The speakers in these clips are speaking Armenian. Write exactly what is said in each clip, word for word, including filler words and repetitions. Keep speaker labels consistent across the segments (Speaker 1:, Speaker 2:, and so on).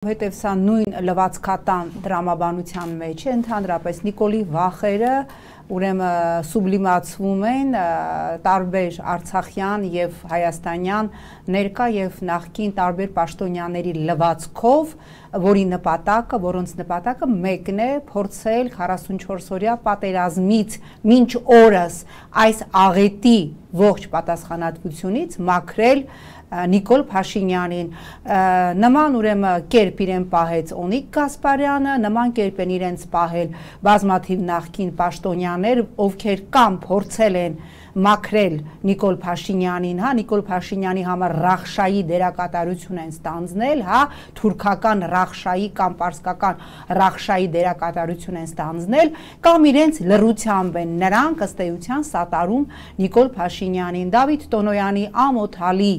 Speaker 1: Հետև սա նույն լվացքատան դրամաբանության մեջ է, ընդհանրապես Նիկոլի վախերը ուրեմն սուբլիմացվում են տարբեր արցախյան եւ հայաստանյան ներկա եւ նախկին տարբեր պաշտոնյաների լվացքով, որի նպատակը, որոնց նպատակը մեկն է փորձել քառասունչորս օրյա պատերազմից մինչ օրս այս աղետի ողջ պատասխանատվությունից մաքրել Նիկոլ Փաշինյանին, նման ուրեմն կերպ իրեն պահեց Օնիկ Գասպարյանը, նման կերպ են իրենց պահել բազմաթիվ նախկին պաշտոնյաներ, ովքեր կամ փորձել են մաքրել Նիկոլ Փաշինյանին, հա, Նիկոլ Փաշինյանի համար ռախշայի դերակատարություն են ստանձնել, հա, թուրքական ռախշայի կամ պարսկական ռախշայի դերակատարություն են ստանձնել, կամ իրենց լռությամբ են նրանք ըստ էության սատարում Նիկոլ Փաշինյանին, Դավիթ Տոնոյանի ամոթալի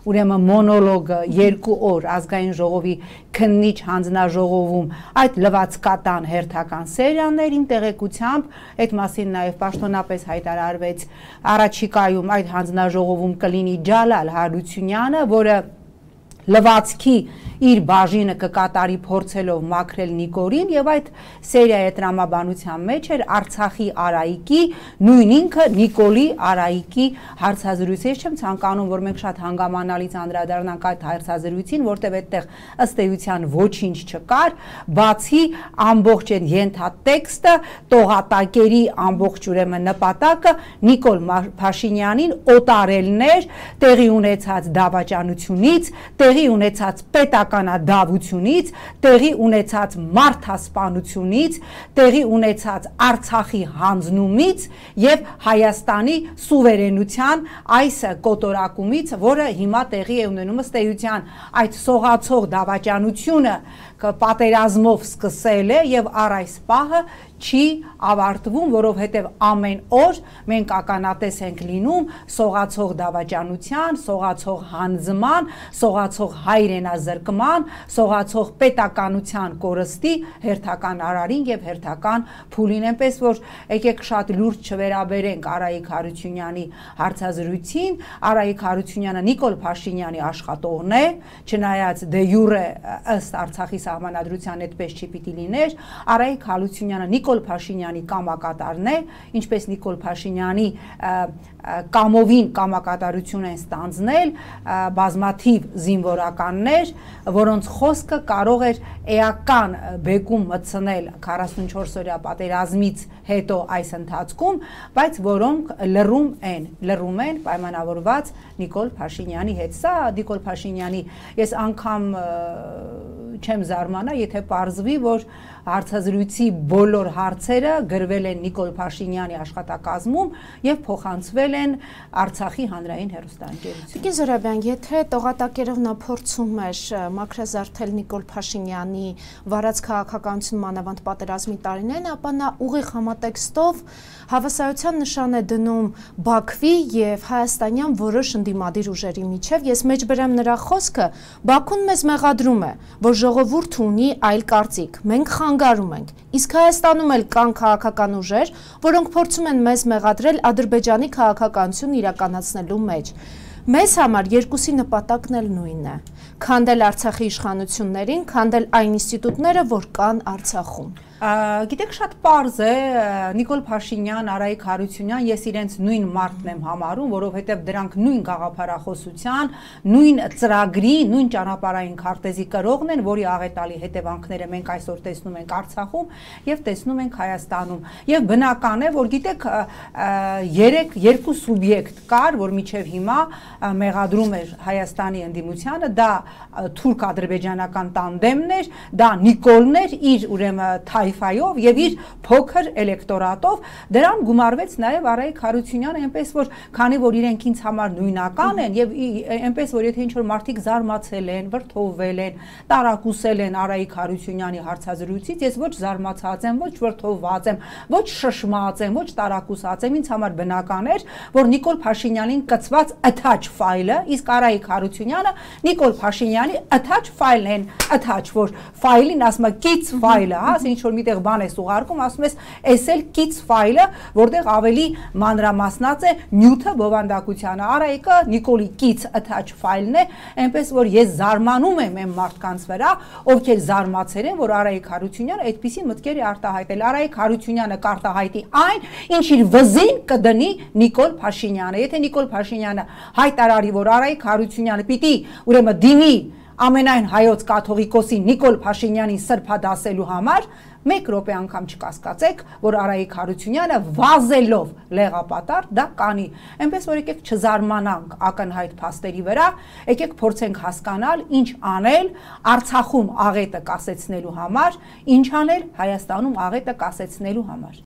Speaker 1: ուրեմն մոնոլոգը երկու օր ազգային ժողովի քննիչ հանձնաժողովում այդ լվացքատան հերթական սերիաներին տեղեկությամբ այդ մասին նաև պաշտոնապես հայտարարվեց առաջիկայում այդ հանձնաժողովում կլինի Ջալալ Հարությունյանը, որը լվացքի իր բաժինը կկատարի փորձելով մաքրել Նիկոլին եւ այդ սերիայի տրամաբանության մեջ էր Արցախի Արայիկի նույն ինքը Նիկոլի Արայիկի հարցազրույցը։ Ես չեմ ցանկանում որ մենք շատ հանգամանալից անդրադառնանք այդ հարցազրույցին, որտեղ այդտեղ ըստ էության ոչինչ չկար, բացի ամբողջ այն ենթատեքստը, տողատակերի ամբողջ ուրեմն նպատակը Նիկոլ Փաշինյանին օտարելն էր տեղի ունեցած դավաճանությունից, տեղի ունեցած պետականադավությունից, տեղի ունեցած մարդասպանությունից, տեղի ունեցած Արցախի հանձնումից եւ Հայաստանի սուվերենության այս կոտորակումից, որը հիմա տեղի է ունենում ըստ էության այդ սողացող դավաճանությունը պատերազմով սկսել է եւ առ այս պահը չի ավարտվում, որովհետև ամեն օր մենք ականատես ենք լինում սողացող դավաճանության, սողացող հանձման, սողացող հայրենազրկման, սողացող պետականության կորստի հերթական արարին եւ հերթական փուլին, այնպես որ եկեք շատ լուրջ չվերաբերենք Արայիկ Հարությունյանի հարցազրույցին, Արայիկ Հարությունյանը Նիկոլ Փաշինյանի աշխատողն է, չնայած դե յուրե ըստ Արցախի սահմանադրության այդպես չի պիտի լիներ, Արայիկ Հարությունյանը Նիկոլ Փաշինյանի կամակատարն է, ինչպես Նիկոլ Փաշինյանի կամովին կամակատարություն են ստանձնել բազմաթիվ զինվորականներ, որոնց խոսքը կարող էր էական բեկում մտցնել քառասունչորս օրյա պատերազմից հետո այս ընթացքում, բայց որոնք լռում են, լռում են պայմանավորված Նիկոլ Փաշինյանի հետ։ Սա Նիկոլ Փաշինյանի, ես անգամ չեմ զարմանա, եթե պարզվի, որ հարցազրույցի բոլոր հարցերը գրվել են Նիկոլ Փաշինյանի աշխատակազմում եւ փոխանցվել են Արցախի հանրային հեռուստաընկերություն։
Speaker 2: Տիկին Զոհրաբյան, եթե տողատակերով նա փորձում էր մաքրազարդել Նիկոլ Փաշինյանի վարած քաղաքականություն մանավանդ պատերազմի տարիներին, ապա նա ուղիղ համատեքստով հավասարության նշան է դնում Բաքվի եւ հայաստանյան որոշ ընդդիմադիր ուժերի միջև։ Ես մեջբերեմ նրա խոսքը, Բաքուն մեզ մեղադրում է, որ ժողովուրդը ունի այլ կարծիք, մենք խանգարում ենք, իսկ Հայաստանում էլ կան քաղաքական ուժեր, որոնք փորձում են մեզ մեղադրել Ադրբեջանի քաղաքականություն իրականացնելու մեջ։ Մեզ համար երկուսի նպատակն էլ նույնն է՝ քանդել Արցախի իշխանություններին, քանդել այն ինստիտուտները, որ կան Արցախում։
Speaker 1: Գիտեք, շատ պարզ է, Նիկոլ Փաշինյան, Արայիկ Հարությունյան, ես իրենց նույն մարդն եմ համարում, որովհետև դրանք նույն գաղափարախոսության, նույն ծրագրի, նույն ճանապարհային քարտեզի կրողն են, որի աղետալի հետևանքները մենք այսօր տեսնում ենք Արցախում եւ տեսնում ենք Հայաստանում։ Եվ բնական է, որ գիտեք, երեք երկու սուբյեկտ կար, որ միջև հիմա մեղադրում էր Հայաստանի ընդդիմությանը, դա թուրք-ադրբեջանական տանդեմն էր, դա Նիկոլն էր, իր ուրեմն թայֆայով եւ իր փոքր էլեկտորատով, դրան գումարվեց նաեւ Արայիկ Հարությունյանը, այնպես որ քանի որ իրենք ինձ համար նույնական են եւ այնպես որ եթե ինչ որ մարդիկ զարմացել են, վրդովվել են, տարակուսել են Արայիկ Հարությունյանի հարցազրույցից, ես ոչ զարմացած եմ, ոչ վրդովված եմ, ոչ շշմած եմ, ոչ տարակուսած եմ, ինձ համար բնական էր, որ Նիկոլ Փաշինյանին կցված attach ֆայլը, իսկ Արայիկ Հարությունյանը Նիկոլ Փաշինյանի attach ֆայլն են, attach որ ֆայլին ասում է կից ֆայլը, հա, ինչ որ միտեղ բան ես ուղարկում, ասում ես, էս էլ կից ֆայլը, որտեղ ավելի մանրամասնած է նյութը բովանդակությանը։ Արայիկը Նիկոլի կից attach ֆայլն է, այնպես որ ես զարմանում եմ այն մարդկանց վրա, ովքեր զարմացել են, որ Արայիկ Հարությունյանը այդպիսի մտքեր է արտահայտել։ Արայիկ Հարությունյանը կարտահայտի այն, ինչ իր վզին կդնի Նիկոլ Փաշինյանը։ Եթե Նիկոլ Փաշինյանը հայտարարի, որ Արայիկ Հարությունյանը պիտի ուրեմն դիմի ամենայն հայոց կաթողիկոսի Նիկոլ Փաշինյանին սրբադասելու համար, մեկ րոպե անգամ չկասկածեք, որ Արայիկ Հարությունյանը վազելով լեղապատար դա կանի։ Այնպես որ եկեք չզարմանանք ակնհայտ փաստերի վրա, եկեք փորձենք հասկանալ ինչ անել Արցախում աղետը կասեցնելու համար, ինչ անել Հայաստանում աղետը կասեցնելու համար։